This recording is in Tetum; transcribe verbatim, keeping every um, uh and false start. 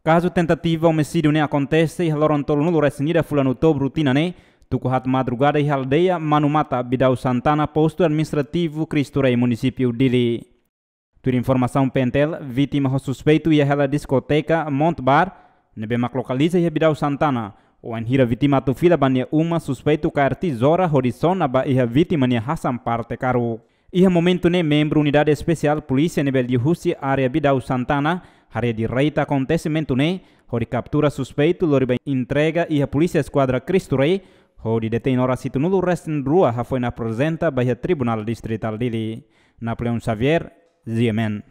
Kazu tentativa omisídiu ne'e akontese iha loron tolunulu-resin-ida fulan Outubru tinan ne'e, tuku haat madrugada iha aldeia Manumata, Bidau Santana, postu administrativu Cristo Rei, munisípiu Dili. Tuir informasaun P N T L, vítima ho suspeitu iha hela diskoteka Mont Bar, ne'ebé mak lokaliza iha Bidau Santana. Wainhira vítima atu fila ba nia uma, suspeitu kaer tezoura hodi sona ba iha vítima nia hasan parte karuk. Iha momentu ne'e, membru Unidade Espesiál Polísia ne'ebé liuhusi área Bidau Santana haree direita akontesimentu ne'e, hodi kaptura suspeitu, lori ba entrega iha Polísia Eskuadra Cristo Rei, hodi detein oras hitunulu-resin-rua hafoin aprezenta ba iha Tribunál Distritál Dili. Napoleão Xavier, G M N.